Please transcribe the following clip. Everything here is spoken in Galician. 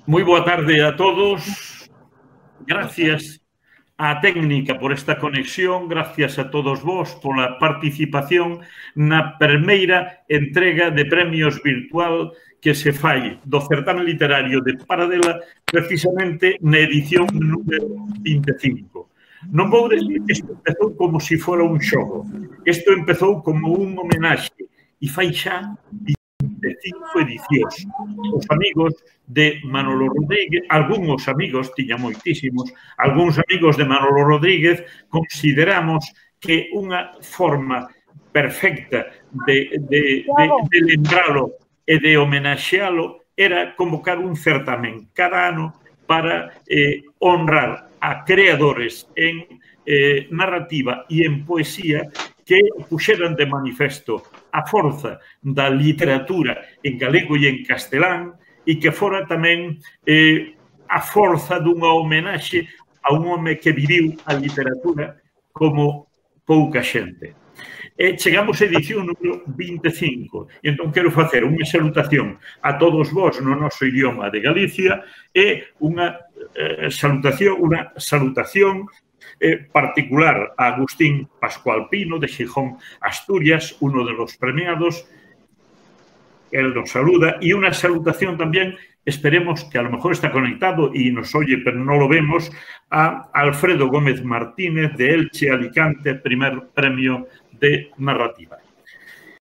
Moi boa tarde a todos. Gracias á técnica por esta conexión, gracias a todos vos pola participación na primeira entrega de premios virtual que se fai do certame literario de Paradela precisamente na edición número 25. Non vou decir que isto empezou como se fora un xogo. Isto empezou como un homenaxe e fai xa 25 edicións. Os amigos de Manolo Rodríguez, algúns amigos, tiña moitísimos, algúns amigos de Manolo Rodríguez, consideramos que unha forma perfecta de lembralo e de homenaxealo era convocar un certamen cada ano para honrar a creadores en narrativa e en poesía que puxeran de manifesto a forza da literatura en galego e en castelán e que fora tamén a forza dunha homenaxe a un home que viviu a literatura como pouca xente. Chegamos a edición número 25 e entón quero facer unha salutación a todos vos no noso idioma de Galicia e unha salutación particular a Agustín Pascual Pino de Xijón, Asturias, uno de los premiados. Él nos saluda y una salutación también, esperemos que a lo mejor está conectado y nos oye, pero no lo vemos, a Alfredo Gómez Martínez de Elche, Alicante, primer premio de narrativa.